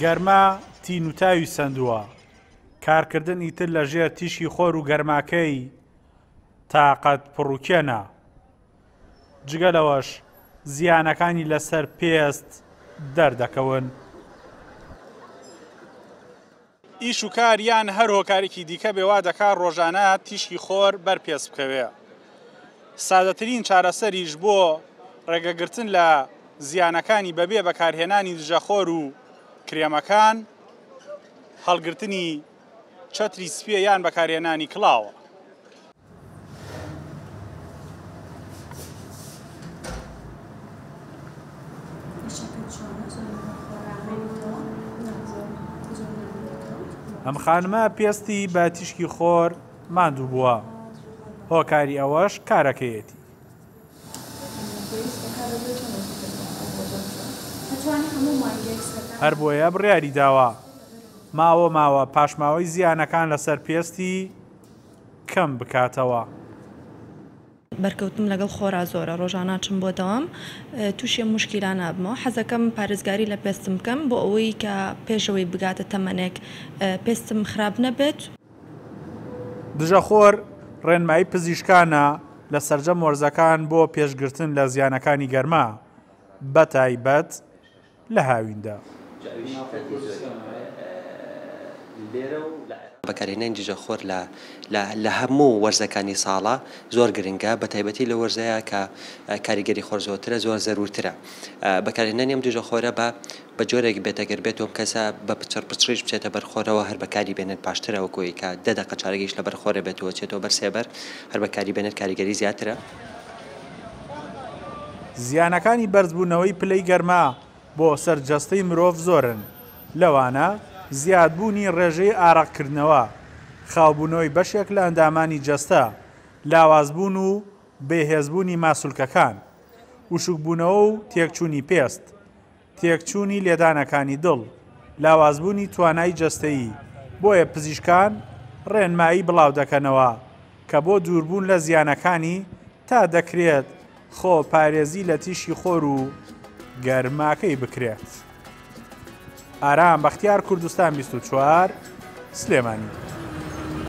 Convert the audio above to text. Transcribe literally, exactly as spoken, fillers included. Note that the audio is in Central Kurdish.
گەرما تین و تاوی سەندووە، کارکردن ئیتر لە ژێر تیشکی خۆر و گەرماکەی تاقەت پڕوکێنە. جگە لەوەش زیانەکانی لەسەر پێست دەردەکەون. ئیش و کار یان هەر هۆکارێکی دیکە بێوا دەکات ڕۆژانە تیشکی خۆر بەر پێست بکەوێ. سادەترین چارەسەریش بۆ ڕێگەگرتن لە زیانەکانی بەبێ بەکارهێنانی دژەخۆر و کرێمەکان هەڵگرتنی چەتری سپیە یان بەکارهێنانی کڵاوە. ئەم خانمە پێستی بە تیشکی خۆر ماندوو بووە، هۆکاری ئەوەش کارەکەیەتی. هەر بۆیە بڕیاری داوە ماوە ماوە پاشماوەی زیانەکان لەسەر پێستی کەم بکاتەوە. بەرکەوتم لەگەڵ خۆرا زۆرە، ڕۆژانە چم بۆ دەوام تووشی مشکیلە نابمەوە. حەزەکەم پارێزگاری لە پێستم بکەم بۆ ئەوەی کە پێشەوەی بگاتە تەمەنێک پێستم خراپ نەبێت. دژەخۆر ڕێنمایی پزیشکانە لە سەرجەم وەرزەکان بۆ پێشگرتن لە زیانەکانی گەرما، بەتایبەت لە هاویندا. بەکارهێنانی دژەخۆر لە هەموو وەرزەکانی ساڵە زۆر گرنگە، بەتایبەتی لە وەرزەیە کە کاریگەری خۆر زۆرترە، زۆر زەرورترە. بەکارهێنانی ئەم دژەخۆرە بە جۆرێک بێت ئەگەر بێت ئەم کەسە بە پچڕ پچڕیش بچێتە بەرخۆرەوە هەر بەکاری بێنێت باشترە، وەکوی کە دە دەقە چارەگەیش لە بەرخۆرە بێتەوە چێتەوە بەر سێبەر، هەر بەکاری بێنێت کاریگەری زیاترە. زیانەکانی بەرزبوونەوەی پلەی گەرما بۆ سەر جەستەی مرۆڤ زۆرن، لەوانە زیادبوونی ڕێژەی ئارەقکردنەوە، خاوبوونەوەی بەشێک لە ئەندامانی جەستە، لاوازبوون و بێهێزبوونی ماسولکەکان، وشکبوونەوە و تێکچوونی پێست، تێکچوونی لێدانەکانی دڵ، لاوازبوونی توانای جەستەیی. بۆیە پزیشکان ڕێنمایی بڵاو دەکەنەوە کە بۆ دووربوون لە زیانەکانی تا دەکرێت خۆ پارێزی لە تیشکی خۆر و گەرماکەی بکرێت. ئارام بەختیار، کوردستان بیست و چوار، سلێمانی.